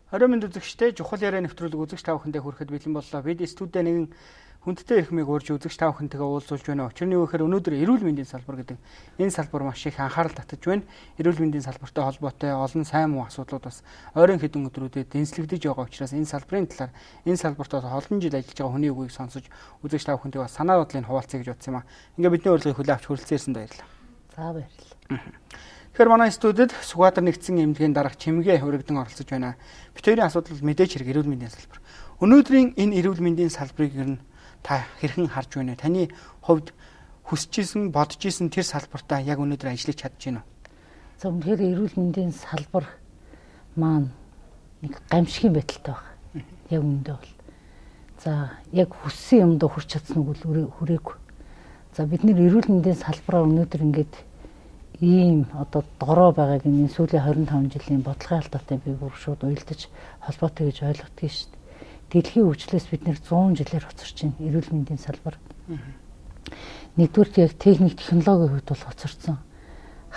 20 минут үзэгчтэй чухал яриа нэвтрүүлэг үзэгч та бүхэндээ хүрэхэд бэлэн боллоо. Бид студид нэгэн хүндтэй эрхмийг урьж үзэгч та бүхэнтэйгээ уулзуулж байна. Учир нь юу гэхээр өнөөдөр эрүүл мэндийн салбар гэдэг энэ салбар маш их анхаарал татаж байна. Эрүүл мэндийн салбартай холбоотой олон сайн муу асуудлууд бас ойрын хэдэн өдрүүдэд дэнслэгдэж байгаа учраас энэ салбарын талаар энэ салбарт олон жил ажиллаж байгаа хүний үгийг сонсож үзэгч та бүхэнтэйгээ бас санаа бодлыг хуваалцъя гэж бодсон юм аа. Ингээ бидний урилгыг хүлээн авч хүрэлцээрсэнд баярлалаа. За баярлалаа. Тэгэхээр манай студид Сүхбаатар нэгдсэн эмнэлгийн дарга Чимгээ Хүрэгдэн оролцож байна. Бид хоёрын асуудал мэдээж хэрэг эрүүл мэндийн салбар. Өнөөдрийн энэ эрүүл мэндийн салбарыг ер нь та хэрхэн харж байна вэ? Таны хувьд хүсэж исэн, бодож исэн тэр салбартаа яг өнөөдөр ажиллаж чадж байна уу? За үнэхээр эрүүл мэндийн салбар маань нэг гамшигын байдалтай байна. Яг үүндээ бол. За яг хүссэн юмд хүрч чадсан үг л хүрээгүй. За бид нэр эрүүл мэндийн салбараа өнөөдөр ингээд ийм одоо дорой байгааг энэ сүүлийн 25 жилийн бодлогын алдаатай би бүр шууд уялдаж холбоотой гэж ойлгодгийг шүү дээ. Дэлхийн хөгжлөөс бид нэр 100 жилээр хоцорч байна эрүүл мэндийн салбар. Нэгдүгээр яг техник технологийн хувьд бол хоцорсон.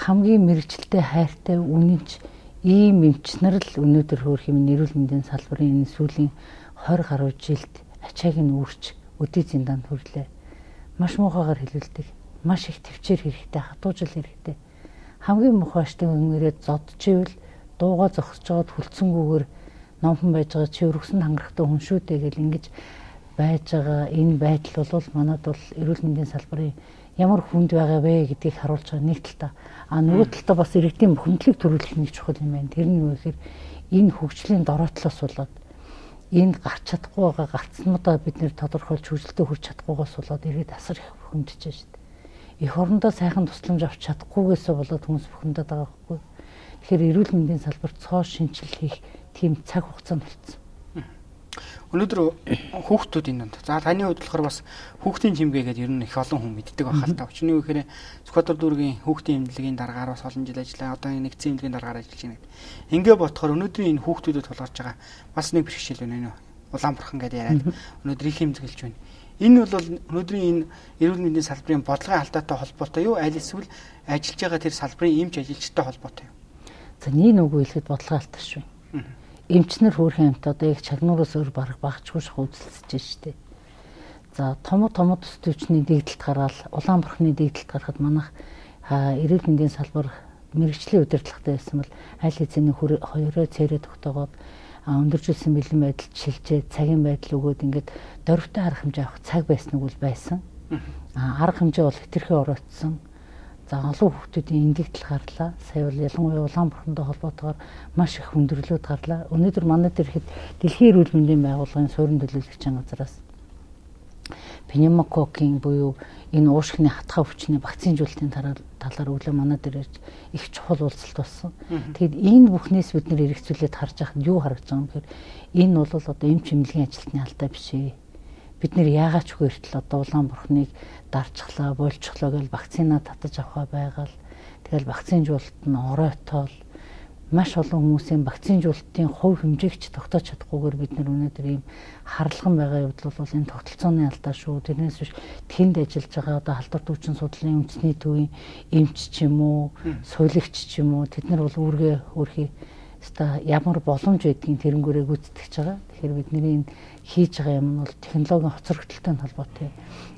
Хамгийн мэрэгчлээ хайртай үнэнч ийм эмч нар л өнөөдөр хөөх юм эрүүл мэндийн салбарын энэ сүүлийн 20 гаруй жилд ачааг нь үүрч өдий зиндаанд хүрлээ. Маш муухайгаар хэлүүлдэг. Маш их төвчээр хэрэгтэй, хатуужил хэрэгтэй. Хамгийн муухай штэ 응ээрээ зодчихвэл дууга зогсож байгаад хүлцэнгүүгээр номхон байж байгаа чи өргөсөнд хангахтай хүн шүү дээ гэл ингэж байж байгаа энэ байдал бол манад бол эрүүл мэндийн салбарын ямар хүнд байгаа вэ гэдгийг харуулж байгаа нэг талтай. Нөгөө талтай бас иргэдийн бухимдлыг төрүүлэх нэг чухал юм байна. Тэр нь юу гэхээр энэ хөгжлийн дороотлоос болоод энэ гарч чадахгүй байгаа гарцнуудаа бид нэр тодорхойлж хүчлэлтэд хүрч чадахгүйгээс болоод иргэд асар их бухимдж байна шүү дээ. Эх орондоо сайхан тусламж авч чадахгүйгээсээ болоод хүмүүс бухимдаад байгаа байхгүй. Тэгэхээр эрүүл мэндийн салбарт цоо шинжил хийх тийм цаг хугацаанд болцсон. Өнөөдөр хүүхдүүд энэ донд. За таны хувьд болохоор бас хүүхдийн чимгээгээд ер нь их олон хүн мэддэг байх л та. Учир нь юу гэхээр Сүхбаатар дүүргийн хүүхдийн эмнэлгийн дараагаар бас олон жил ажиллаа. Одоо нэгдсэн эмнэлгийн дараагаар ажиллаж байна. Ингээ бодохоор өнөөдрийн энэ хүүхдүүдэд тулгарч байгаа бас нэг бэрхшээл байна нэ. Улаанбархан гэдэг яриад өнөөдөр их хэмзгэлж байна. Энэ бол өнөөдрийн энэ эрүүл мэндийн салбарын бодлогын алдаатай холбоотой юу? Аль эсвэл ажиллаж байгаа тэр салбарын эмч ажилчтай холбоотой юу? За нэг үгүй хэлэхэд бодлогын алдаа шүү. Эмчнэр хөөрхөн амт одоо яг чагнуураас өөр барах багчгүй шах үзэлцэж штэ. За том төс төвчний дэгдэлт гараад Улаанбархны дэгдэлт гарахад манайх эрүүл мэндийн салбар мэрэгчлийн удирдлагатай байсан бол аль хэзээний хоёроо цээрээ тогтоогоод өндөржүүлсэн бэлэн байдал шилжээ цагийн байдал өгөөд ингээд дөрвтэй арга хэмжээ авах цаг байсныг бол байсан. Арга хэмжээ бол хэтэрхий оройтсон. За олон хүүхдүүдийн эндэгдэл гарлаа. Сая бол ялангуяа Улаанбархантай холбоотойгоор маш их хүндрэлүүд гарлаа. Өнөөдөр манай дээр ихэд Дэлхийн эрүүл мэндийн байгууллагын суурин төлөөлөгчийн газраас пневмококкийн буюу энэ уушгины хатгах өвчний вакцинжуулалтын талаар өглөө манай дээр их чухал уулзалт болсон. Тэгэд энэ бүхнээс бид нэр эргэцүүлээд харж байхад юу харагдаж байгаа юм гэхээр энэ бол одоо эмч эмнэлгийн ажилтны алдаа биш ээ. Бид нэр яагаад ч хүртэл одоо Улаанбархныг дарчглаа, бойлчглоо гэж вакцина татаж авах байгаал. Тэгэл вакцинжуулалт нь оройтол маш олон хүмүүсийн вакцинжуулалтын хувь хэмжээгч тогтоож чадахгүйгээр бид нэр өнөөдөр ийм харлаган байгаа явдал бол энэ тогтолцооны алдаа шүү. Тэрнээс биш тэнд ажиллаж байгаа одоо халдвар дүүчин судлалын үндэсний төвийн эмч ч юм уу, сувилагч ч юм уу тэд нар бол өөрхий ямар боломж байдгийг тэрнгүүрээ гүйцэтгэж байгаа. Тэгэхээр бидний энэ хийж байгаа юм бол технологийн хоцрогдолтой холбоотой.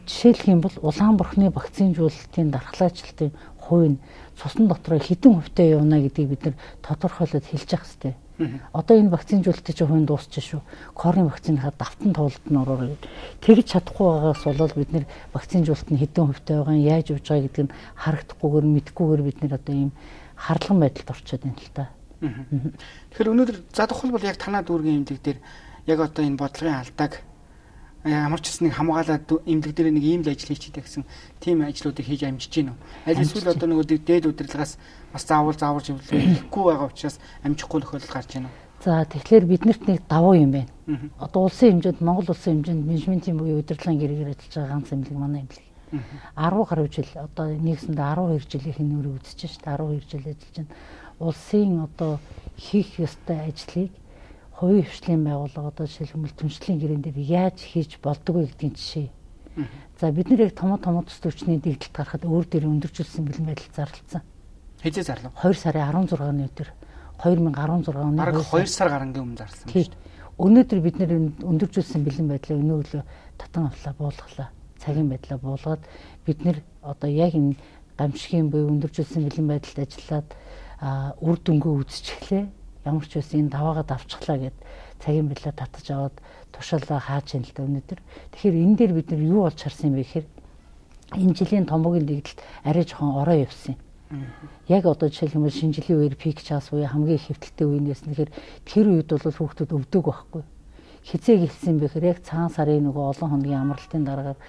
Жишээлх юм бол Улаанбархны вакцинжуулалтын дархлаачлалтын хувь нь цусан дотроо хэдэн хувьтай явна гэдгийг бид нар тодорхойлоод хэлж явах хэрэгтэй. Одоо энэ вакцинжуулалтын чинь хувь нь дуусчих шүү. Корны вакциныхаа давтан тоглолт нь ороо. Тэгж чадахгүй байгаас болоод бид нар вакцинжуулалт нь хэдэн хувьтай байгаа нь яаж явж байгаа гэдгийг харагдахгүйгээр мэдхгүйгээр бид нар одоо ийм харлаган байдалд орчод байна л та. Тэгэхээр өнөөдөр за тухал бол яг танаа дүүргийн эмнэлэг дээр яг одоо энэ бодлогын алдааг ямар ч нэг хамгаалаад эмнэлэг дээр нэг ийм л ажил хийчихдэг гэсэн тийм ажлуудыг хийж амжиж гин үү? Аль эсвэл одоо нөгөө дээд удирдлагаас бас заавар живлэхгүй байгаа учраас амжихгүй тохиолдол гарч байна уу? За тэгэхээр биднэрт нэг давуу юм байна. Одоо улсын хэмжээнд Монгол улсын хэмжээнд менежментийн буюу удирдлагын гэрээр ажиллаж байгаа ганц эмнэлэг манай эмнэлэг. 10 гаруй жил одоо нэгсэндээ 12 жилийн нүүрийг үзэж шээ 12 жил ажиллаж байна. Улсын одоо хийх ёстой ажлыг хувийн хвшлийн байгууллага одоо жишээлбэл түншлэлийн гэрэн дээр яаж хийж болдог вэ гэдгийн жишээ. За бид нэр яг том төс төвчний дэгдэлт гарахад өөр дээр өндөржүүлсэн бэлэн байдал зарлцсан. Хэзээ зарлав? 2 сарын 16-ны өдөр 2016 оны бараг 2 сар гарангийн өмнө зарласан юм шүү дээ. Өнөөдөр бид нэр өндөржүүлсэн бэлэн байдлаа өнөөгөө татан авлаа буулгалаа. Цагийн байдлаа буулгаад бид нэр одоо яг энэ гамшигын буюу өндөржүүлсэн бэлэн байдалд ажиллаад үр дүнгээ үзчихлээ. Ямар ч байсан энэ даваагаад авчихлаа гэд цагийн байдлаа татаж аваад тушаалаа хааж ийн л да өнөөдөр. Тэгэхээр энэ дээр бид нар юу болж харсан юм бэ гэхээр энэ жилийн томоогийн дэгдэлт арай жоохон ороо явсан юм. Яг одоо жишээлбэл шинэ жилийн үеэр пик час буюу хамгийн их хэвтэлтэй үе нэс нэхэр тэр үед бол хүүхдүүд өвдөг байхгүй. Хизээ гэлсэн бэ гэхээр яг цагаан сарын нөгөө олон хоногийн амралтын дараагаар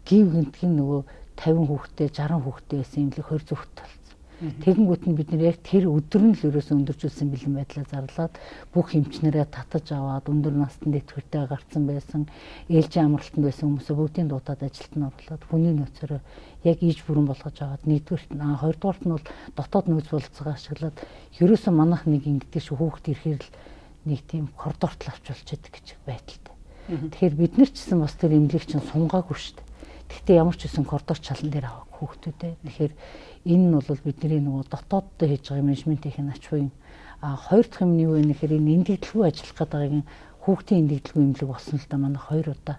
гів гинтгийн нөгөө 50 хүүхдтэй 60 хүүхдтэй байсан юм л 20 зүгт болсон. Тэгэнгүүт нь бид нэр яг тэр өдөр нь л ерөөсөө өндөржүүлсэн бэлэн байдлаа зарлаад бүх эмчнэрээ татаж аваад өндөр насны дэтгэвртэй гарцсан байсан ээлжийн амралтанд байсан хүмүүсээ бүгдийн дуудаад ажилд нь оруулаад хүний нөөцөөрөө яг иж бүрэн болгож аваад нэгдүгürt хоёрдугаарт нь бол дотоод нөөц болцоогоо ашиглаад ерөөсөө манайх нэг ингэдэг шүү хүүхд ирэхээр л нэг тийм коридорт л авч болчиход гэж байдалтай. Тэгэхээр бид нар ч гэсэн бас тэр эмнэлэг чинь сунгаагүй шүү дээ. Гэхдээ ямар ч үсэн коридор чалан дээр авах хүүхдүүдээ. Тэгэхээр энэ нь бол бидний нөгөө дотооддоо хийж байгаа менежментийн ач буй. Хоёр дахь юм нь юу вэ гэхээр энэ эндэгдлгүй ажиллах гэдэг хүүхдийн эндэгдлгүй эмнэлэг болсон л да манай 2 удаа.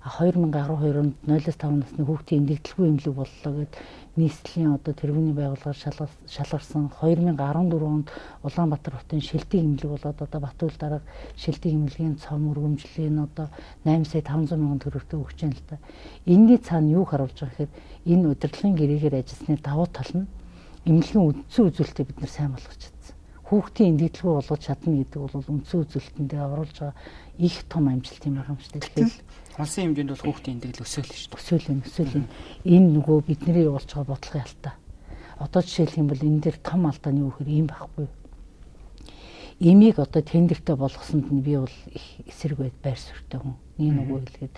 2012 онд 0-5 насны хүүхдийн эндэгдлгүй эмнэлэг боллоо гэд нийслэлийн одоо тэргүүний байгууллагаар шалгарсан. 2014 онд Улаанбаатар хотын шилдэг эмнэлэг болоод одоо Батүл дарга шилдэг эмнэлгийн цом өргөмжлийн одоо 8 сая 500 мянган төгрөгтэй өгч юм л да. Энэний цаана юу харуулж байгаа гэхээр энэ удирдлагын гэрээгээр ажилласны давуу тал нь эмнэлгийн үндсэн үзүүлэлтийг бид нар сайн болгож чадсан. Хүүхдийн эндэгдлгүй болгож чадна гэдэг бол үндсэн үзүүлэлтэндээ оруулж байгаа их том амжилт юм байгаа юм шүү дээ. Тэгэхээр улсын хэмжээнд бол хүүхдийн эндэгдэл өсөөл шүү дээ. Өсөөл юм. Энэ нөгөө бидний явуулж байгаа бодлогын алдаа. Одоо жишээлх юм бол энэ дээр том алдааны юу гэхээр ийм байхгүй. Имийг одоо тендертэй болгосонд нь би бол их эсрэг байр суурьтай хүн. Нэг нөгөө хэлгээд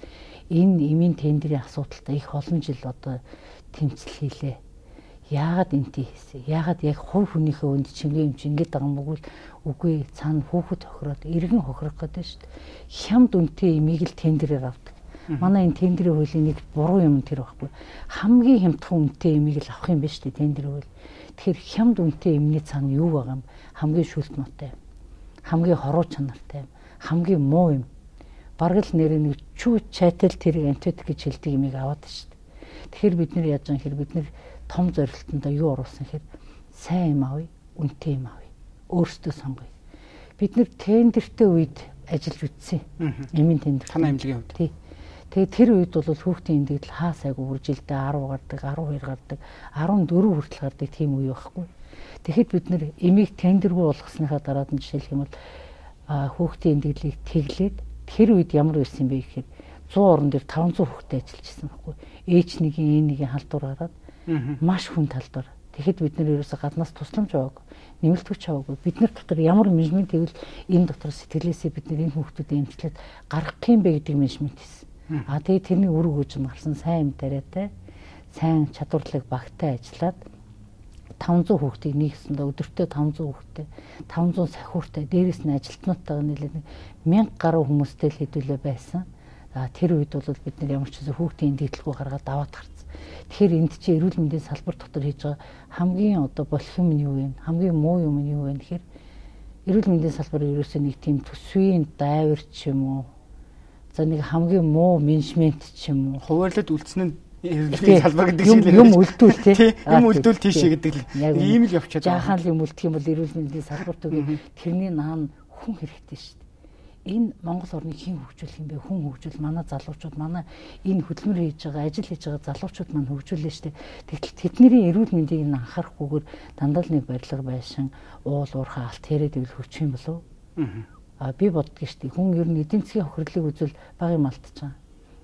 энэ имийн тендерийн асуудалтай их олон жил одоо тэмцэл хийлээ. Яагаад энтэй хийсэн? Яагаад яг хувь хүнийхээ өнд чингээ юм чи ингэж байгаа юм бол үгүй цаана хүүхэд хохироод иргэн хохирох гэдэг шүү дээ. Хямд үнэтэй имийг л тендерээр авдаг. Манай энэ тендерийн хуулийн нэг буруу юм тэр байхгүй. Хамгийн хямдхан үнэтэй имийг л авах юм байна шүү дээ тендерийн хууль. Тэгэхээр хямд үнэтэй имний цаана юу байгаа юм? Хамгийн шүлт нотой юм. Хамгийн хоруу чанартай юм. Хамгийн муу юм. Бараг л нэр нэг чүү чатал тэрийг антибиотик гэж хэлдэг имийг аваад шүү дээ. Тэгэхээр бид нар яаж юм хэрэг бид нар том зорилтондоо юу оруулсан гэхээр сайн юм авъя, үнэтэй юм авъя. Өөрсдөө сонгоё. Бид нэр тендертэй үед ажиллаж үтсэн. Эмийн тендер. Танай эмнэлгийн хувьд. Тий. Тэгээ тэр үед бол хүүхдийн эндэгдэл хаа сайгүй үржилдээ 10 гардаг, 12 гардаг, 14 хүртэл гардаг тийм үе байхгүй. Тэгэхэд бид нэр эмийг тендергүй болгосныхаа дараад нь жишээлх юм бол хүүхдийн эндэгдлийг тэглээд тэр үед ямар байсан бэ гэхээр 100 орон дээр 500 хүүхдэд ажиллаж ирсэн байхгүй. H1-ийн E1-ийн халдвар гараад маш хүн талдвар. Тэгэхэд бид нэр ерөөсө гаднаас тусламж аваагүй, нэмэлтгч аваагүй. Бид нар дотор ямар менежмент гэвэл энэ дотор сэтгэлээсээ бид нар энэ хүүхдүүдэд эмчлээд гаргах юм бэ гэдэг менежмент хийсэн. Тэгээ тэрний үр өгөөж марсан сайн юм тариатай, сайн чадварлаг багтай ажиллаад 500 хүүхдийг нэгсэндээ өдөртөө 500 хүүхдтэй, 500 сахиуртай, дээрээс нь ажилтнуудтайгаа нийлээд 1000 гаруй хүмүүстэй л хэдүүлээ байсан. Тэр үед бол бид нар ямар ч зүйл хүүхдийн эндэгдлгүй гаргаад даваад гарсан. Тэгэхээр энд чинь эрүүл мэндийн салбар дотор хийж байгаа хамгийн одоо болох юм нь юу вэ? Хамгийн муу юм нь юу вэ гэхээр эрүүл мэндийн салбар ерөөсөө нэг тийм төсвийн дайвар ч юм уу. За нэг хамгийн муу менежмент ч юм уу. Хуваарлаад үлдсэн нь эрүүл мэндийн салбар гэдэг шиг юм үлдүүл тий. Юм үлдүүл тийшээ гэдэг л ийм л явчихад байгаа. Жаахан л юм үлдэх юм бол эрүүл мэндийн салбар түгээ тэрний наан хүн хэрэгтэй шүү дээ. Энэ Монгол орныг хэн хөгжүүлэх юм бэ? Хүн хөгжүүл манай залуучууд, манай энэ хөдөлмөр хийж байгаа, ажил хийж байгаа залуучууд маань хөгжүүлнэ шүү дээ. Тэгтэл тэдний эрүүл мэндийг анхаарахгүйгээр дандаа л нэг барилга байшин, уул уурхай алт яриад ивэл хөгжих юм болов? Би боддгийн шүү дээ. Хүн ер нь эдийн засгийн хохирлыг үзвэл баг юм алдчихаг.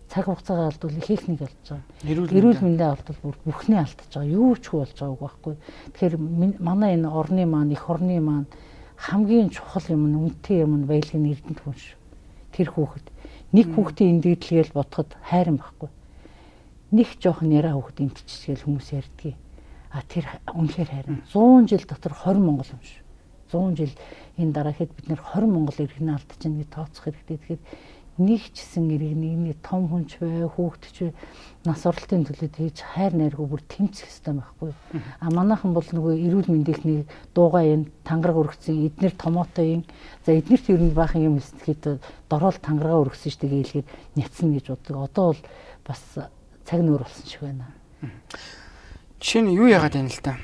Цаг хугацаагаа алдвал их нэг болж байгаа. Эрүүл мэндийн алдвал бүр бүхний алдчихж байгаа. Юу ч болж байгааг байхгүй. Тэгэхээр манай энэ орны маань, их орны маань хамгийн чухал юм нь үнэтэй юм нь баялагын эрдэнэт хүн шүү. Тэр хүүхэд нэг хүүхдийн эндэгдлгээл бодоход хайран байхгүй. Нэг жоохон яраа хүүхэд эндчихгээл хүмүүс ярьдгийг. Тэр үнэхээр хайран. 100 жил дотор 20 монгол юм шүү. 100 жил энэ дараахэд бид нэр 20 монгол иргэнэ алдчихна гэж тооцох хэрэгтэй. Тэгэхээр нэг ч гэсэн иргэний том хүнч бай, хүүхдч бай, нас оролтын төлөө тэгж хайр найргүй бүр тэмцэх хэрэгтэй байхгүй. А манайхан бол нөгөө эрүүл мэндийнхний дуугаа юм тангараг өргөцсөн, эднэр томоотой юм. За эднэрт ер нь баахан юм хэлсэхэд дорол тангараа өргөсөн шүү дээ гэлгээд няцна гэж боддог. Одоо бол бас цаг нуур болсон шиг байна. Жишээ нь юу яагаад байна л та.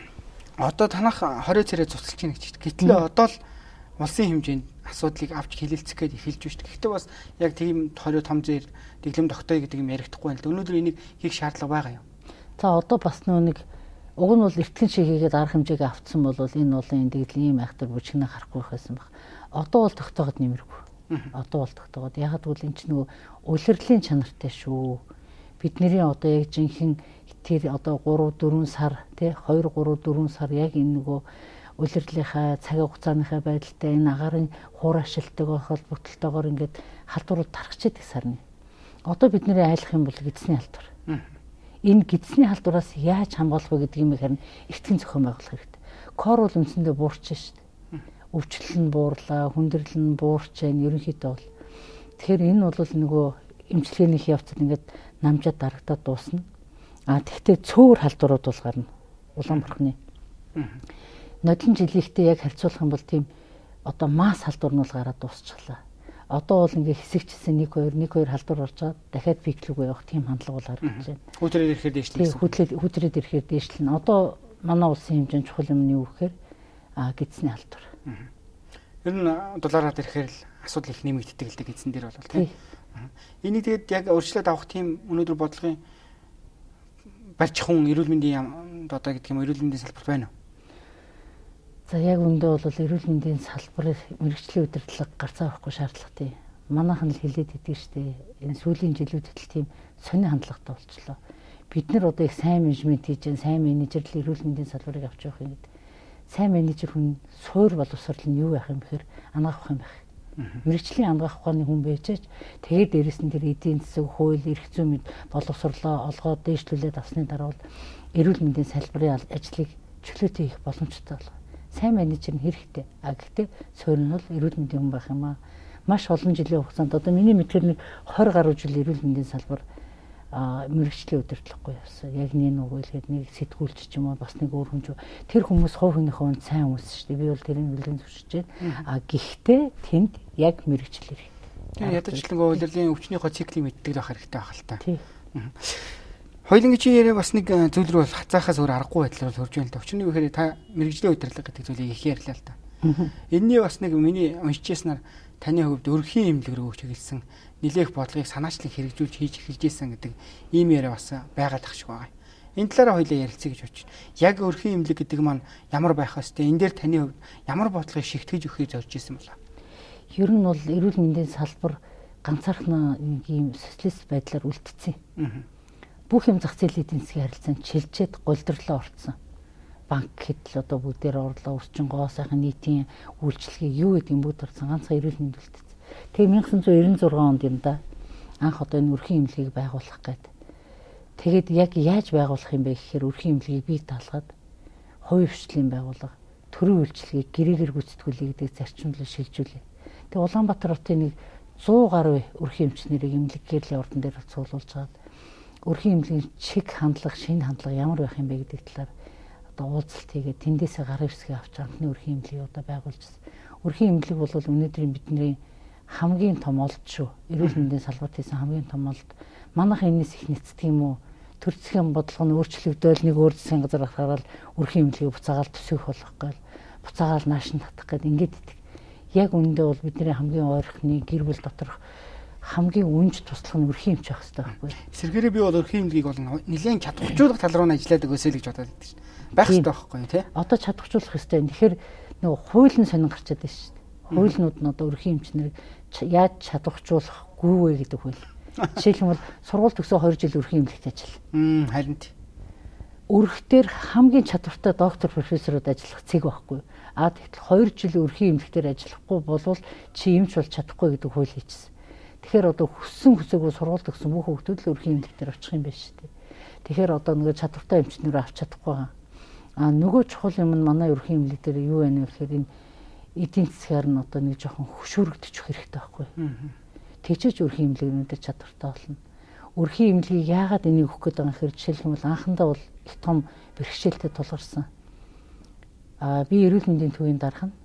Одоо танах 20 царай цуцалж ийн гэж. Гэтэл одоо л улсын хэмжээнд асуудлыг авч хилэлцэх гээд эхэлж байна шүү дээ. Гэхдээ бас яг тийм 20 том зэр дэглэм тогтоё гэдэг юм яригдахгүй байна л да. Өнөөдөр энийг хийх шаардлага байгаа юм. За одоо бас нэг уг нь бол эртгэн шиг хийгээд арга хэмжээг авцсан бол энэ олон дэглэм ийм айхтар бүжигнээ харахгүй байсан баг. Одоо бол тогтооход нэмэргүй. Одоо бол тогтооход яг гэвэл энэ ч нөгөө улирлын чанартай шүү. Бидний одоо яг жинхэнэ тэр одоо 3 4 сар тий 2 3 4 сар яг энэ нөгөө улирлынхаа цагийн хугацааныхаа байдалтай энэ агарын хуурашилтайгаа холбогдлолтойгоор ингээд халдварууд тархчихдаг сарны. Одоо бидний айлах юм бол гидсний халдвар. Энэ гидсний халдвараас яаж хамгаалах вэ гэдэг юм харин эртхэн зохион байгуулах хэрэгтэй. Кор бол үндсэндээ буурч шүү дээ. Өвчлөл нь буурлаа, хүндрэл нь буурч байна. Ерөнхийдөө бол. Тэгэхээр энэ бол нөгөө эмчилгээнийх явцад ингээд намжаад дарагдаад дуусна. А тэгвэл цөөр халдварууд бол гарна. Улаан бурхны. Нодлон жилийнхтэй яг харьцуулах юм бол тийм одоо масс халдвар нь бол гараад дуусчихлаа. Одоо бол ингээ хэсэгчсэн 1 2 халдвар орж байгаа. Дахиад пиклүүгээ явах тийм хандлага бол гарч байна. Хүүтрээд ирэхээр дээшлэн. Хүүтрээд ирэхээр дээшлэн. Одоо манай улсын хэмжээнд чухал юм нь юу гэхээр гидсний халдвар. Ер нь доллараар ирэхээр л асуудал их нэмэгддэг л дээ гидсэн дээр бол тийм. Энийг тэгээд яг өөрчлөлт авах тийм өнөөдөр бодлогын барьж хүн эрүүл мэндийн одоо гэдэг юм эрүүл мэндийн салбарт байна уу? За яг үндэ бол эрүүл мэндийн салбарын мэрэгжлийн удирдлага гарцаа авахгүй шаардлагатай. Манайхан л хэлээд идэв штэ. Энэ сүүлийн жилүүдэд л тийм сони хандлагатай болчихлоо. Бид нар одоо их сайн менежмент хийж, сайн менежерлэл эрүүл мэндийн салбарыг авч явах юм гэдэг. Сайн менежер хүн суур боловсрол нь юу байх юм бэхээр ангаах юм байх. Мэргэжлийн ангаах ухааны хүн байжээч тэгээд дээрэс нь тэр эдийн засаг, хууль, эрх зүйн мэд боловсрлоо олгоод дээшлүүлээд авсны дараа бол эрүүл мэндийн салбарын ажлыг чөлөөтэй хийх боломжтой болно. Сайн менежер нь хэрэгтэй. Гэхдээ суурь нь бол эрүүл мэндийн хүн байх юм аа. Маш олон жилийн хугацаанд одоо миний мэдхээр 20 гаруй жил эрүүл мэндийн салбар мэргэжлийн удирдлагагүй явсан. Яг нэг үгэлгээд нэг сэтгүүлч ч юм уу бас нэг өөр хүн ч тэр хүмүүс хувь хүнийхээ үнд сайн хүмүүс шүү дээ. Би бол тэрийг нэлээд зөвшөөрч байна. Гэхдээ тэнд яг мэргэжил ирэх. Тэгээ ядажлангөө удирдлагын өвчнийхөө циклийг мэддэг байх хэрэгтэй байх л та. Хоёулангийн чи яриа бас нэг зүйл рүү хацаахаас өөр аргагүй байдлаар хөрж байна л да. Өчигний үхээр та мэргэжлийн удирдлага гэдэг зүйлийг их ярьлаа л да. Энэний бас нэг миний уншижсанаар таны хувьд өрхийн эмнэлэг рүү чиглэсэн нэлээх бодлогыг санаачлан хэрэгжүүлж хийж эхэлжсэн гэдэг ийм яриа бас байгаад ах шиг байгаа. Энэ талаараа хоёулаа ярилцъя гэж бодчих. Яг өрхийн эмнэлэг гэдэг маань ямар байх хэвээр энэ дээр таны хувьд ямар бодлогыг шигтгэж өгөхийг зорж ирсэн болоо? Ер нь бол эрүүл мэндийн салбар ганцаархан нэг ийм социалист байдлаар үлдсэн. Бүх юм зах зээлийн эдийн засгийн харилцаанд чилжээд голдрлоо орцсон. Банк гэдэл одоо бүгдээр орлоо өрчин гоо сайхан нийтийн үйлчлэгийг юу гэдэг юм бүгд орсон ганцхан эрүүл мэнд үлдсэн. Тэгээ 1996 онд юм да анх одоо энэ өрхийн эмнэлгийг байгуулах гээд. Тэгээд яг яаж байгуулах юм бэ гэхээр өрхийн эмнэлгийг бий даалгаад хувийн хвшлийн байгууллага төрийн үйлчлэгийг гэрээгээр гүйцэтгүүлэх гэдэг зарчимлал шилжүүлээ. Тэгээ Улаанбаатар хотын нэг 100 гаруй өрхийн эмчнэрийг эмнэлэг гэрлийн ордон дээр цуглуулж чаад өрхийн эмнэлгийн чиг хандлага, шинэ хандлага ямар байх юм бэ гэдэг талаар уулзалт хийгээд тэндээсээ гарын хэсгийг авч анхны өрхийн эмнэлгийг одоо байгуулжсэн. Өрхийн эмнэлэг бол өнөөдрийн бидний хамгийн том олд шүү. Эрүүл мэндийн салбарт хийсэн хамгийн том олд. Манайх энэс их нэцдэг юм уу? Төр засгийн бодлого нь өөрчлөгдөөл нэг өөр засгийн газар гараад өрхийн эмнэлгийг буцаагаал төсөөх болохгүй. Буцаагаал нааш нь татах гээд ингээд идэг. Яг үүндээ бол бидний хамгийн ойрхны гэр бүл доторх хамгийн үнж туслах нь өрхийн эмч байх хэрэгтэй байхгүй. Сэргээрээ би бол өрхийн эмнэлгийг бол нэлээд чадваржуулах тал руу нь ажилладаг өсөөл гэж бодоод байдаг шүү. Байх хэрэгтэй байхгүй тий. Одоо чадваржуулах хэрэгтэй. Тэгэхээр нөгөө хууль нь сонин гарчаад байна шүү дээ. Хуулинууд нь одоо өрхийн эмчнэрийг яаж чадваржуулахгүй вэ гэдэг хууль. Жишээлбэл сургууль төгсөө 2 жил өрхийн эмнэлэгт ажил. Харин тий. Өрхтөр хамгийн чадвартай доктор профессорууд ажиллах цэг байхгүй. Тэгэхдээ 2 жил өрхийн эмнэлэгтэр ажиллахгүй болвол чи эмч болж чадахгүй гэдэг хууль хийчихсэн. Тэгэхээр одоо хүссэн хүсээгүй сургууль төгссөн бүх хүүхдүүд л өрхийн эмнэлэгтэр очих юм байна шүү дээ. Тэгэхээр одоо нөгөө чадвартай эмчнэрээ авч чадахгүй байгаа. Нөгөө чухал юм нь манай өрхийн эмнэлэг дээр юу байна вэ гэхээр энэ эдийн засгаар нь одоо нэг жоохон хөшөөрөгдөж хэрэгтэй байхгүй. тэгжиж өрхийн имлэг өнөдр чадвартай болно. Өрхийн имлэгийг яагаад энийг өгөх гэдэг юм хэрэг жишээлх юм бол анхандаа бол их том бэрхшээлтэй тулгарсан. Би эрүүл мэндийн төвийн дарга нь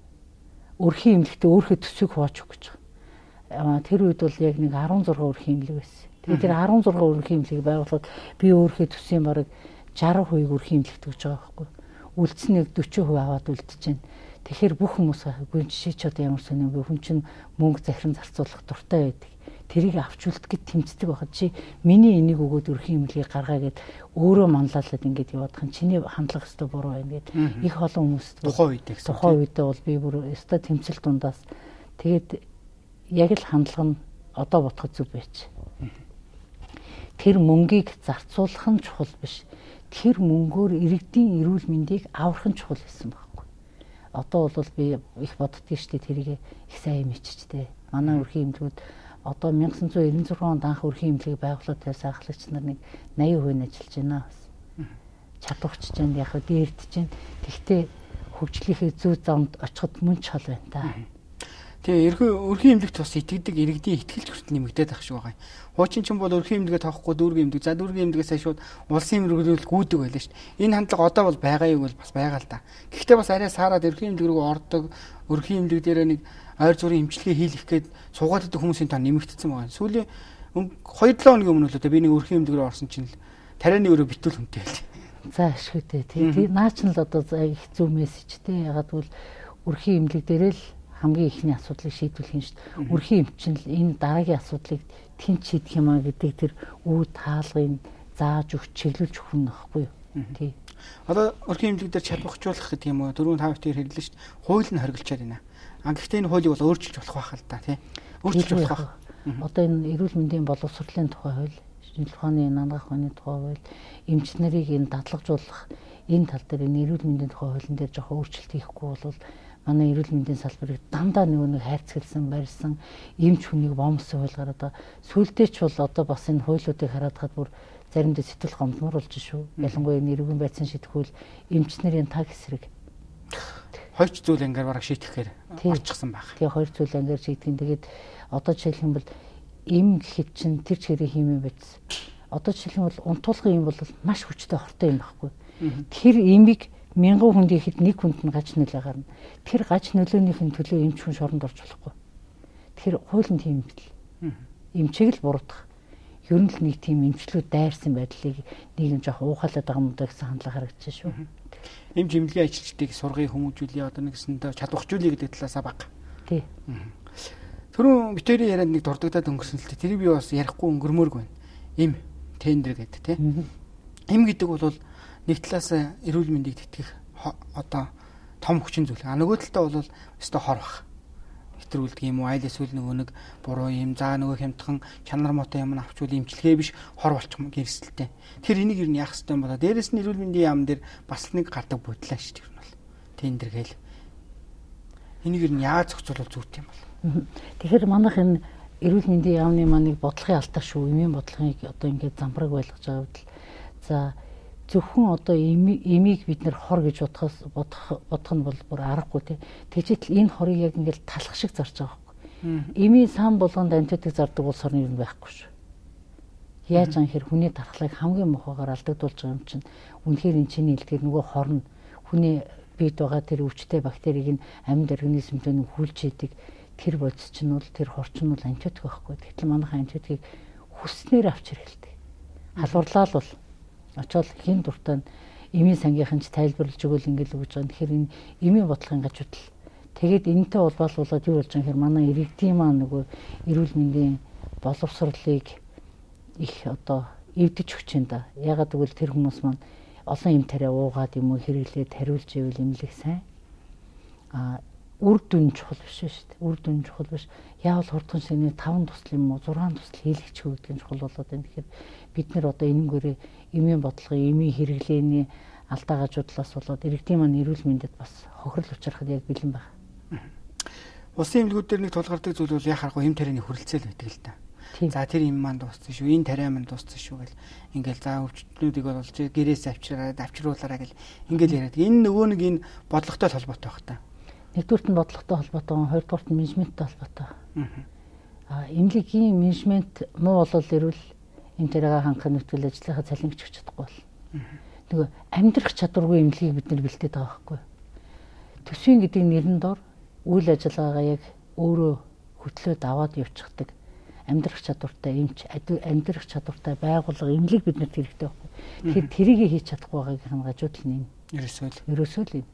өрхийн имлэгтээ өөрхөө төсвийг хувааж өгөх гэж байгаа. Тэр үед бол яг нэг 16 өрхийн имлэг байсан. Тэгээд тэр 16 өрхийн имлэгийг байгуулахад би өөрхөө төсвийн бараг 60% өрхийн имлэгт өгж байгаа байхгүй. Үлдсэнийг 40% аваад үлдчихэв. Тэгэхээр бүх хүмүүс гүн жишээ ч одоо ямар сонио хүн чинь мөнгө захиран зарцуулах дуртай байдаг. Тэрийг авч үлдэхэд тэмцдэг байхад чи миний энийг өгөөд өрхийн имлэгийг гаргаа гэд өөрөө манлайлаад ингэж яваадах нь чиний хандлага өстө буруу байна гэд их олон хүмүүст тухайн үедээ бол би бүр өстө тэмцэл дундаас тэгээд яг л хандлага нь одоо бодоход зүг байж. Тэр мөнгийг зарцуулах нь чухал биш. Тэр мөнгөөр иргэдийн эрүүл мэндийг аврах нь чухал гэсэн байхгүй. Одоо бол би их боддгийг штэ тэрийг их сайн мэдчихтэй. Манай өрхийн имлгүүд одоо 1996 онд анх өрхийн имлэгийг байгуулаад байсан ахлагч нар нэг 80% ажиллаж байна бас. Чадварч чинь яг дээрдэж чинь. Тэгтээ хөгжлийнхээ зүй замд очиход мөн ч хол байна та. Тэгээ өрхийн имлэгт бас итгэдэг иргэдийн ихтгэлч хүртэл нэмэгдээд ах шиг байгаа юм. Хуучин ч бол өрхийн имлэгээ тоохгүй дүүргийн имлэг. За дүүргийн имлэгээс шууд улсын имлэгүүл гүйдэг байлаа шүү дээ. Энэ хандлага одоо бол байгаа юм бол бас байгаа л да. Гэхдээ бас арай саарад өрхийн имлэг рүү ордог. Өрхийн имлэг дээр нэг ойр зүрийн эмчилгээ хийх гээд суугаад идэх хүмүүсийн тоо нэмэгдсэн байгаа. Сүүлийн 2-7 хоногийн өмнө л би нэг өрхийн имлэг рүү орсон чинь тарианы өрөө битүүл хүнтэй байл. За ашигтэй. Тэгээ наач нь л одоо их зөв мессежтэй. Ягаад гэвэл өрхийн имлэг дээр л хамгийн ихний асуудлыг шийдвэрлэх юм шүү дээ. Өрхийн эмчнэл энэ дараагийн асуудлыг тэнц шийдэх юм а гэдэг тэр үе таалгыг зааж өгч чиглүүлж өгөх нь байхгүй юу? Тий. Одоо өрхийн имлэг дээр чадвархжуулах гэдэг юм уу? 4-5 дээр хэллээ шүү дээ. Хууль нь хоригдчаад байна. Гэхдээ энэ хуулийг бол өөрчилж болох байх л да тий. Өөрчилж болох байх. Одоо энэ эрүүл мэндийн боловсролын тухай хууль, шинжилгээ ухааны нандах ухааны тухай хууль, эмч нарыг энэ дадлагжуулах энэ тал дээр энэ эрүүл мэндийн тухай хуулийн дээр жоохон өөрчлөлт хийхгүй бол манай эрүүл мэндийн салбарыг дандаа нэг хайрцагсан, барьсан эмч хүнийг бомсон хуулгаар одоо сүултээ ч бол одоо бас энэ хуулиудыг хараад хад бүр заримдаа сэтгэл гомдмор болж шүү. Ялангуяа нэрвэн байцаан шийдэх хууль эмч нарын таг эсрэг. Хоёр зүйл ангаар бараг шийтгэхээр орчихсан байх. Тэгээ хоёр зүйл ангаар шийтгэн. Тэгээд одоо жишээлх юм бол эм гэхэд чинь тэр чигээрээ хиймээ байц. Одоо жишээлх юм бол унтуулгын эм бол маш хүчтэй хортой юм байхгүй. Тэр эмийг 1000 хүнд ихэд нэг хүнд нь гаж нөлөө гарна. Тэр гаж нөлөөнийхэн төлөө эмч хүн шоронд орж болохгүй. Тэр хуулийн тийм бэл. Эмчийг л буруутгах. Ер нь л нэг тийм эмчлүүд дайрсан байдлыг нэг юм жоох уухалаад байгаа юм даа гэсэн хандлага харагдаж шүү. Эмч эмнэлгийн ажилчдыг сургыг хүмүүжүүлээ одоо нэгсэндээ чадвархжуулъя гэдэг талаасаа бага. Тий. Түрүүн битэрийн ярианд нэг дурддагдаад өнгөрсөн л дээ. Тэрийг би бас ярихгүй өнгөрмөөргүй байна. Эм тендер гэдэг тий. Эм гэдэг бол нэг талаас эрүүл мэндийг тэтгэх одоо том хүчин зүйл. Нөгөө талдаа бол өстой хор бах. Хэтрүүлдэг юм уу? Айл эсвэл нөгөө нэг буруу юм. За нөгөө хямдхан чанар мотой юм авчвал имчилгээ биш хор болчих гэрсэлтэй. Тэр энийг юу яах хэвтэй юм болоо. Дээрээс нь эрүүл мэндийн яам дээр бас нэг гардаг бодлоо шүү дээ. Тэр бол тендер гээл. Энийг юу яаж зохицуулах зүйтэй юм бол. Тэгэхээр манайх энэ эрүүл мэндийн яамны маныг бодлогын алдаа шүү. Эмийн бодлогыг одоо ингээд замбраг байлгаж байгаа бол за зөвхөн одоо эмийг бид нэр хор гэж бодох нь бол бүр аргагүй тий. Тэгжээтэл энэ хорыг яг ингээд талах шиг зарж байгаа байхгүй. Эмийн сан болгонд антибиотик зардаг улс орны юм байхгүй шүү. Яаж анхэр хүний тархлыг хамгийн мохогоор алдагдуулж байгаа юм чинь үнэхээр энэ чиний илтгэр нөгөө хорн хүний бийд байгаа тэр өвчтэй бактерийг нь амьд организмд нь хүлж идэг тэр бодис чинь бол тэр хорчин бол антибиотик байхгүй. Тэгтэл манайхан антибиотикийг хүснээр авч хэрэгэлдэг. Халуурлаа л бол очоод хин дуртай нь эмийн сангийнхан ч тайлбарлаж өгөөл ингээл өгж байгаа. Тэгэхээр энэ эмийн бодлогын гажуудл. Тэгээд энэтэй улбаалуулаад юу болж байгаа юм манай иргэдийн маань нөгөө эрүүл мэндийн боловсролыг их одоо эвдэж өгч юм да. Ягаад гэвэл тэр хүмүүс маань олон юм тариа уугаад юм уу хэрэглээд хариулж ивэл имлэг сайн. Үр дүн чухал биш шүү дээ. Үр дүн чухал биш. Яавал хурдхан шинэ 5 тусал юм уу 6 тусал хийлгэж өгдөг нь чухал болоод байна. Тэгэхээр бид нэр одоо энэнгээрээ эмийн бодлогын эмийн хэрэглээний алдаа гажуудлаас болоод иргэдийн маань эрүүл мэндэд бас хохирол учрахад яг бэлэн байна. Улсын эмнэлгүүд дээр нэг тулгардаг зүйл бол яхахгүй хэм тарианы хүрэлцээл байдаг л та. За тэр юм маань дууссан шүү. Энэ тариа маань дууссан шүү гэл ингээл за өвчтнүүдийг бол гэрээс авчруулаарай гэл ингээл яриад. Энэ нөгөө нэг энэ бодлоготой холбоотой байх та. Нэгдүгürt нь бодлоготой холбоотой, хоёрдугürt нь менежменттэй холбоотой. Эмнэлгийн менежмент муу болол ирвэл эмнэлгээ хангахын нүтгэл ажлынхаа цалин гэж чадахгүй бол. Нөгөө амьдрах чадваргүй эмнэлгийг бид нар бэлдээд байгаа байхгүй. Төсвийн гэдэг нэрэн дор үйл ажиллагаагаа яг өөрөө хөтлөөд аваад явчихдаг амьдрах чадвартай эмч, амьдрах чадвартай байгууллага эмнэлэг бид нарт хэрэгтэй байхгүй. Тэгэхээр тэрийг хийж чадахгүй байгаагийн гажууд л нэм. Ерөөсөө л юм.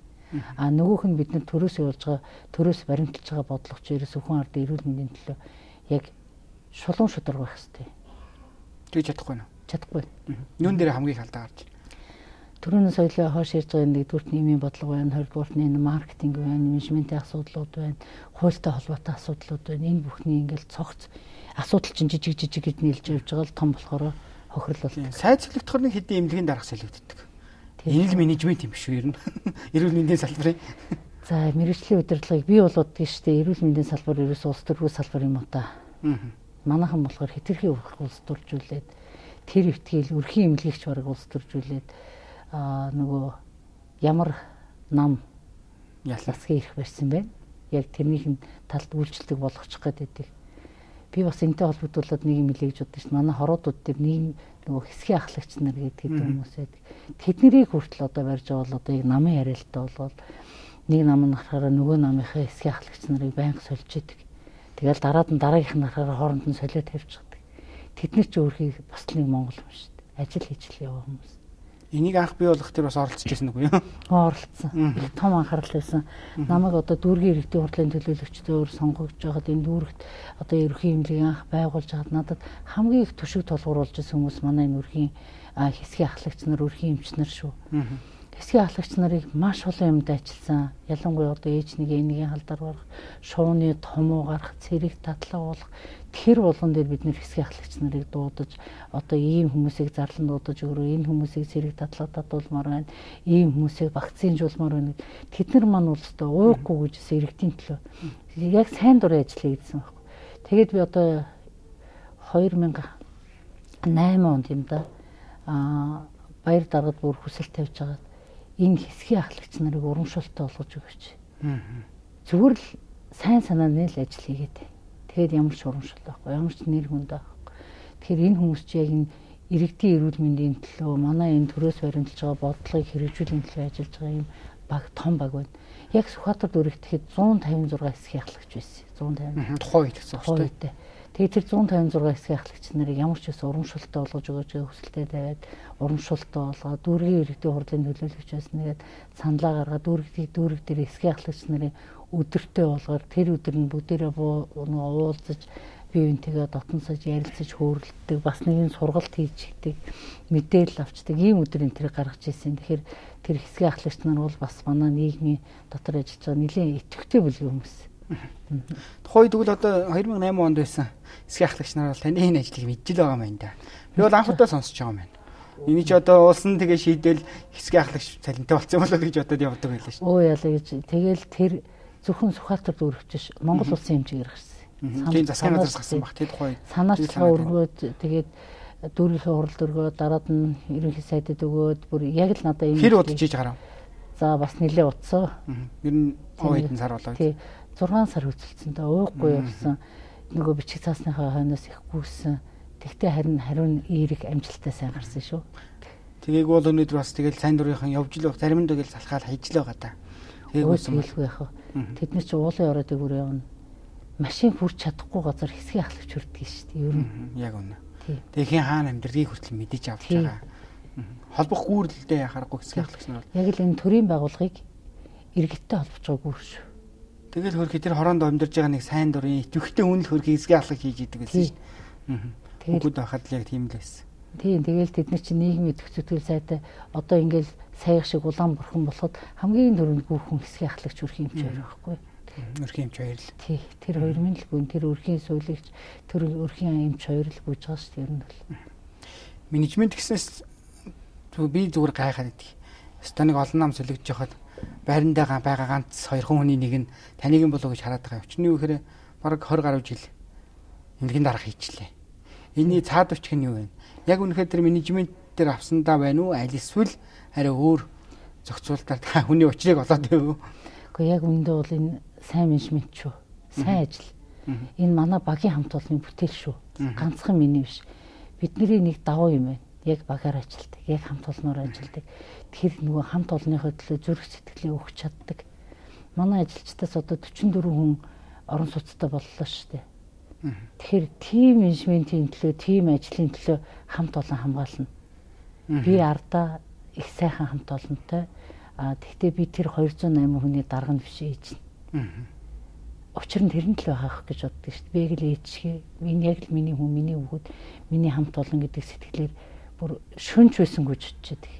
Нөгөөх нь бид нар төрөөс явуулж байгаа, төрөөс баримталж байгаа бодлогоч ерөөс хүн ард эрүүл мэндийн төлөө яг шулуун шударга байх хэрэгтэй. Тэгж чадахгүй нь. Чадахгүй. Юун дээр хамгийн их алдаа гарч байна. Төрөний соёлоо хойш ирж байгаа нэгдүгürt нийгмийн бодлого байна, хоёрдугаарт нь маркетинг байна, менежментийн асуудлууд байна, хуультай холбоотой асуудлууд байна. Энэ бүхний ингээл цогц асуудал чинь жижиг гэж нийлж явж байгаа л том болохоор хохирол болдог. Сайд солигдохоор нэг хэдийн эмнэлгийн дарга солигддог. Энэ л менежмент юм биш үү ер нь. Эрүүл мэндийн салбарын. За мэргэжлийн удирдлагыг бий болгоод гэж штэ эрүүл мэндийн салбар ерөөс улс төрийн салбар юм уу та. Манайхан болохоор хэтэрхий улс төржүүлээд тэр өвтгийл өрхийн эмнэлгийгч бараг улс төржүүлээд нөгөө ямар нам ялсгийн ирэх барьсан байна. Яг тэрнийх нь талд үйлчлдэг болгочих гэдэг. Би бас энэтэй холбогдуулаад нэг юм хэлье гэж бодсон шүү дээ. Манай хороодууд дээр нэг нөгөө хэсгийн ахлагч нар гэдэг хүмүүс байдаг. Тэднийг хүртэл одоо барьж байгаа бол одоо яг намын яриалтай болоод нэг нам нь харахаараа нөгөө намынхаа хэсгийн ахлагч нарыг байнга сольж идэг. Тэгэл дараад нь дараагийнх нь харахаараа хооронд нь солиод тавьчихдаг. Тэд нар ч өөрхийг бас нэг монгол юм шүү дээ. Ажил хийж л яваа хүмүүс. Энийг анх бий болгох тэр бас оролцож байсан үгүй юу? Оролцсон. Их том анхаарал байсан. Намайг одоо дүүргийн иргэдийн хурлын төлөөлөгчдөөр сонгогдож байгаад энэ дүүрэгт одоо ерөнхий эмнэлгийн анх байгуулж байгаад надад хамгийн их төшөг толгууруулж байсан хүмүүс манай энэ өрхийн хэсгийн ахлагч нар, өрхийн эмч нар шүү. Хэсгийн ахлагч нарыг маш олон юмд ажилласан. Ялангуяа одоо ээж нэг энийг халдаар барах, шууны томоо гарах, цэрэг татлаа болох тэр болгон дээр бид нэр хэсгийн ахлагч нарыг дуудаж одоо ийм хүмүүсийг зарлан дуудаж өгөрөө энэ хүмүүсийг цэрэг татлаа татуулмаар байна. Ийм хүмүүсийг вакцинжуулмаар байна. Тэд нар маань улстай уухгүй гэж иргэдийн төлөө яг сайн дурын ажил хийсэн байхгүй. Тэгээд би одоо 2008 онд юм да баяр даргад бүр хүсэл тавьж байгаа. Энэ хэсгийн ахлагч нарыг урамшуултаа болгож өгөөч. Зүгээр л сайн санааны л ажил хийгээд. Тэгээд ямар ч урамшил байхгүй, ямар ч нэр хүнд байхгүй. Тэгэхээр энэ хүмүүс чи яг энэ иргэдийн эрүүл мэндийн төлөө манай энэ төрөөс баримталж байгаа бодлогыг хэрэгжүүлэх төлөө ажиллаж байгаа юм баг том баг байна. Яг Сүхбаатар дүүрэгт тэгэхэд 156 хэсгийн ахлагч байсан. 150. Тухайн үед гэсэн үг шүү дээ. Тэгээд тэр 156 хэсгийн ахлагч нарыг ямар ч байсан урамшилтаа болгож өгөөж хүсэлтэд тавиад урамшилтаа болгоод дүүргийн иргэдийн хурлын төлөөлөгч байсан нэгэд саналаа гаргаад дүүрэг дээр хэсгийн ахлагч нарын өдөртөө болгоор тэр өдөр нь бүгдээрээ уулзаж бие биентэйгээ дотносож ярилцаж хөөрөлддөг бас нэгэн сургалт хийждэг мэдээлэл авчдаг ийм өдөр энэ тэр гаргаж ирсэн. Тэгэхээр тэр хэсгийн ахлагч нар бол бас манай нийгмийн дотор ажиллаж байгаа нэлээд идэвхтэй бүлгийн хүмүүс. Тухайн үед тэгвэл одоо 2008 онд байсан хэсгийн ахлагч нар бол таны энэ ажлыг мэдж л байгаа юм байна да. Би бол анх удаа сонсож байгаа юм байна. Эний ч одоо уулсан тэгээ шийдэл хэсгийн ахлагч цалинтай болсон болоо гэж бодоод явдаг байлаа шүү. Оо яалаа гэж. Тэгэл тэр зөвхөн Сүхбаатар дүүрэгч Монгол улсын хэмжээгээр гарсан. Тийм засгийн газраас гарсан баг тийм тухай. Санаачлага өргөөд тэгээд дүүргийнхээ хуралд өргөөд дараад нь ерөнхий сайдад өгөөд бүр яг л надаа энэ хэр удаж хийж гарав. За бас нэлээ удсан. Ер нь хэдэн сар болоо. Тий 6 сар хөдөлсөн та уухгүй явсан. Нөгөө бичиг цаасныхаа хойноос их гүйсэн. Тэгтээ хариун эерэг амжилттай сайн гарсан шүү. Тэгээг бол өнөөдөр бас тэгэл сайн дурынхан явж л байх. Зарим нь тэгэл салхаал хийж л байгаа та. Тэгээгүй яах вэ? Тэд нар чи уулын ороод игүүр явна. Машин хүрч чадахгүй газар хэсгийн ахлагч хүрдэг шүү дээ. Ер нь. Яг үнэ. Тэгээ хин хаана амьдрыг хүртэл мэдэж авч байгаа. Холбох гүүрлэлдээ яхахгүй хэсгийн ахлагч нар бол яг л энэ төрийн байгууллагыг иргэдтэй холбож байгаа гүүр шүү. Тэгэл хөрхи тэр хороонд амьдарж байгаа нэг сайн дурын идэвхтэй үнэл хөрхи хэсгийн ахлах хийж идэг гэсэн шүү дээ. Бүгд байхад л яг тийм л байсан. Тийм тэгэл тэд нар чи нийгмийн идэвхтэй сайтай одоо ингээл саяг шиг улаан бурхан болоход хамгийн дөрөнд гүүхэн хэсгийн ахлагч өрхийн эмч хоёр байхгүй. Өрхийн эмч хоёр л. Тий тэр хоёр минь л гүн тэр өрхийн суулагч тэр өрхийн эмч хоёр л гүйж байгаа шүү дээ ер нь бол. Менежмент гэснээс би зүгээр гайхаад идэг. Станыг олон нам солигдож яхад байрандаа байгаа ганц хоёр хүний нэг нь таныг юм болоо гэж хараад байгаа. Өчнөө ихээр бараг 20 гаруй жил эмнэлгийн дарга хийчлээ. Энийний цаад өчг нь юу вэ? Яг үнэхээр тэр менежмент дээр авсандаа байна уу? Аль эсвэл арай өөр зохицуултаар хүний учрыг олоод байв уу? Гэхдээ яг үндэ бол энэ сайн менежмент шүү. Сайн ажил. Энэ манай багийн хамт олонны бүтээл шүү. Ганцхан миний биш. Бидний нэг давуу юм байна. Яг багаар ажилладаг, яг хамт олноор ажилладаг. Тэгэхээр нөгөө хамт олонныхоо төлөө зүрх сэтгэлээ өгч чаддаг. Манай ажилчдаас одоо 44 хүн орон сууцтай боллоо шүү дээ. Тэгэхээр тим менежментийн төлөө, тим ажлын төлөө хамт олон хамгаална. Би ардаа их сайхан хамт олонтой. Тэгтээ би тэр 208 хүний дарга нь биш ээж нь. Учир нь тэрэн л байгаах гэж боддог шүү дээ. Би яг л ээжгээ, энэ яг л миний хүн, миний хүүхэд, миний хамт олон гэдэг сэтгэлээр бүр шөнч байсангүй чичээдэг.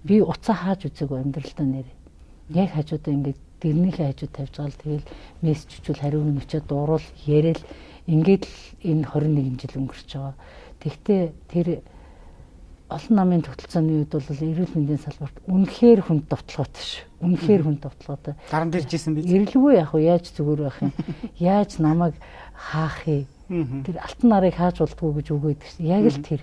Би уцаа хааж үзээгүй амьдралдаа нэр. Яг хажуудаа ингээд дэрнийхээ хажууд тавьж байгаа л тэгэл мессеж чичүүл хариу нүчээ дуурал яриад ингээд л энэ 21 жил өнгөрч байгаа. Тэгтээ тэр олон намын тогтолцооны үед бол эрүүл мэндийн салбарт үнэхээр хүнд довтлоготой шүү. Үнэхээр хүнд довтлоготой. Даран дээр жисэн биз? Ирэлгүй яг уу яаж зүгээр байх юм? Яаж намайг хаах юм? Тэр алтан нарыг хааж болдгоо гэж үгээд шүү. Яг л тэр.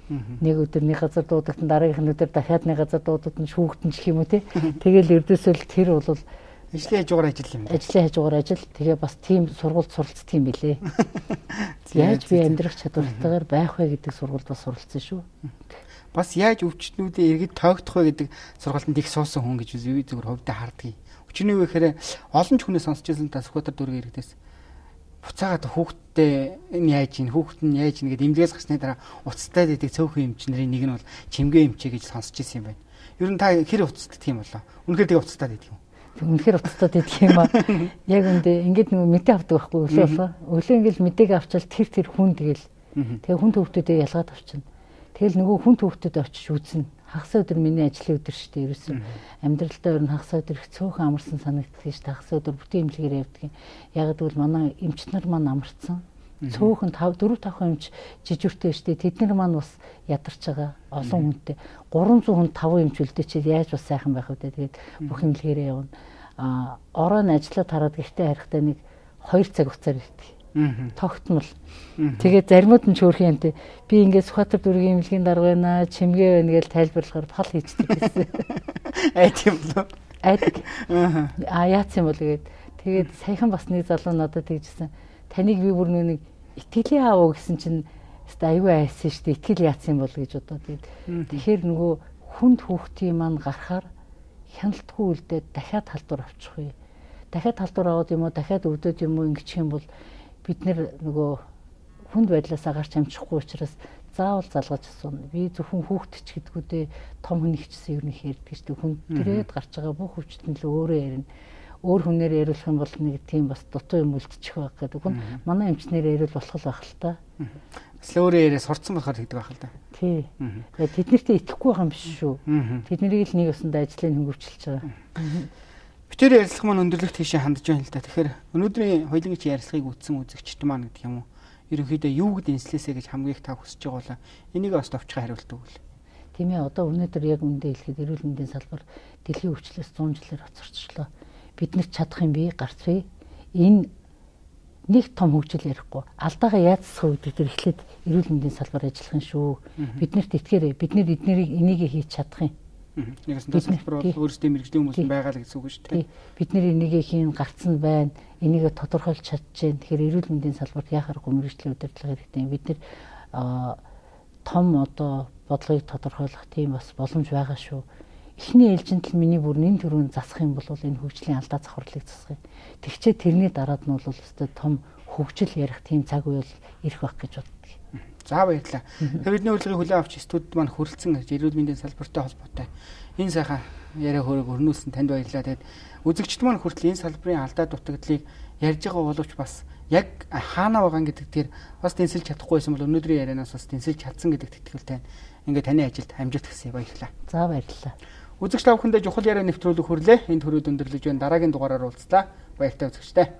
Нэг өдөр нэг газар дуудагдан дараагийн өдөр дахиад нэг газар дуудагдан шүүгтэн ч юм уу те. Тэгэл ердөөсөө тэр бол ажлын хажуугаар ажил юм. Ажлын хажуугаар ажил. Тэгээ бас тийм сургуульд суралцсан юм билээ. Яаж би амьдрах чадвартайгаар байх вэ гэдэг сургуульд бас суралцсан шүү. Бас яаж өвчтнүүдээ иргэд тоогдох вэ гэдэг сургалтанд их суусан хүн гэж би зүгээр хувьдаа хардгийг. Өчигний үе гэхээр олон ч хүнээс сонсч байсан та Сүхбаатар дүүргийн иргэдээс буцаагаад хүүхдтэй энэ яаж ийн хүүхд нь яаж ийн гэдэг имлэгээс гарсны дараа уцтай дэдэг цөөхөн эмчнэрийн нэг нь бол чимгээ эмчээ гэж сонсч байсан юм байна. Ер нь та хэр уцтдаг юм болоо? Үнэхээр тэг уцтай дэдэг юм. Үнэхээр уцтай дэдэг юм аа. Яг үндэ ингээд нөгөө мэдээ авдаг байхгүй өглөө болоо. Өглөө ингээд мэдээг авчвал тэр хүн тэгэл. Тэгээ хүн төвхтөдөө ялгаад авчна. Тэгэл нөгөө хүн төвхтөд очиж үзнэ. Хагас өдөр миний ажлын өдөр шүү дээ. Ерөөсөн амьдралдаа ер нь хагас өдөр их цөөхөн амарсан санагддаг шүү дээ. Хагас өдөр бүтэн имлэгээр явдаг. Яг гэвэл манай эмч нар маань амарсан. Цөөхөн 4-5 эмч жижигтэй шүү дээ. Тэд нар маань бас ядарч байгаа. Олон хүнтэй. 300 хүн 5 эмч үлдээчихэд яаж бас сайхан байх вэ? Тэгээд бүх имлэгээрээ явна. Ороо нь ажиллаад хараад гэхдээ харихтаа нэг 2 цаг хугацаар ирдэг. Тогтмол. Тэгээд заримуд нь чөөрх юмтэй. Би ингээд Сүхбаатар дүүргийн имлэгийн дарга байна, чимгээ байна гэж тайлбарлахаар пал хийчихдэг гэсэн. Айд юм болоо. Айд. Яац юм бол гээд. Тэгээд саяхан бас нэг залуу надад тэгжсэн. Таныг би бүр нэг итгэлийн аав гэсэн чинь аюу айсан шүү дээ. Итгэл яац юм бол гэж бодоод тэгээд. Тэгэхээр нөгөө хүнд хүүхдийн маань гарахаар хяналтгүй үлдээд дахиад халдвар авчих вэ. Дахиад халдвар аваад юм уу, дахиад өвдөд юм уу ингэчих юм бол бид нөгөө хүнд байдлаасаа гарч амжихгүй учраас заавал залгаж асууна. Би зөвхөн хүүхдч гэдгүүдээ том хүн ихчсэн ер нь ярьдаг шүү дээ. Хүн тэрээд гарч байгаа бүх өвчтөн л өөрөө ярина. Өөр хүнээр яриулах юм бол нэг тийм бас дутуу юм үлдчих байх гэдэг. Хүн манай эмчнэр яриул болох л байх л та. Бас өөрөө яриа сурцсан болохоор тэгдэг байх л да. Тий. Тэд нэртээ итгэхгүй байгаа юм биш шүү. Тэд нарыг л нэг усанд ажлыг хөнгөвчлж байгаа. Битээр ярилцлага маань өндөрлөгт тийшээ хандж байна л да. Тэгэхээр өнөөдрийн хоёулынгийн ярилцлагыг үтсэн үзэгчд маань гэдэг юм уу? Ерөнхийдөө юу гэд энслээсэ гэж хамгийн их та хүсэж байгаа бол энийг бас товчхон хариулт өгвөл. Тийм ээ, одоо өнөөдөр яг үндэ хэлэхэд эрүүл мэндийн салбар дэлхийн өвчлөөс 100 жилээр хоцорчлоо. Бид нар чадах юм би гарц вэ? Энэ нэг том хөгжил ярихгүй. Алдаагаа яаж засах вэ гэдэг эхлээд эрүүл мэндийн салбар ажиллах юм шүү. Биднэрт итгээрэй. Бид нар энийг хийж чадах юм. Нэгсэн тасалбар бол өөрсдөө мэрэгжлийн хүмүүс байгаа л гэсэн үг шүү дээ. Бид нар энийг хийн гарцсан байна. Энийг тодорхойлж чадчихээн. Тэгэхээр эрүүл мэндийн салбарт яхааргүй мэрэгжлийн удирдлага хэрэгтэй. Бид нар том одоо бодлогыг тодорхойлох тийм бас боломж байгаа шүү. Эхний ээлжинд л миний бүр нэн төрөнд засах юм бол энэ хөгжлийн алдаа завхарлыг засах юм. Тэгчээ тэрний дараад нь бол өстой том хөгжил ярих тийм цаг үе бол ирэх байх гэж боддог. За баярлалаа. Бидний урилгыг хүлээн авч студид маань хүрэлцэн эрүүл мэндийн салбартай холбоотой энэ сайхан яриа хөрөг өрнүүлсэн танд баярлалаа. Тэгээд үзэгчд маань хүртэл энэ салбарын алдаа дутагдлыг ярьж байгаа боловч бас яг хаана байгаа гэдэг дээр бас тэнцэлж чадахгүй байсан бол өнөөдрийн ярианаас бас тэнцэлж чадсан гэдэг тэтгэлтэй ингээд таны ажилд амжилт хүсье. Баярлалаа. За баярлалаа. Үзэгч та бүхэндээ чухал яриа нэвтрүүлэг хүрлээ. Энд хүрээд өндөрлөж байна. Дараагийн дугаараар уулзлаа. Баяртай үзэгчтэй.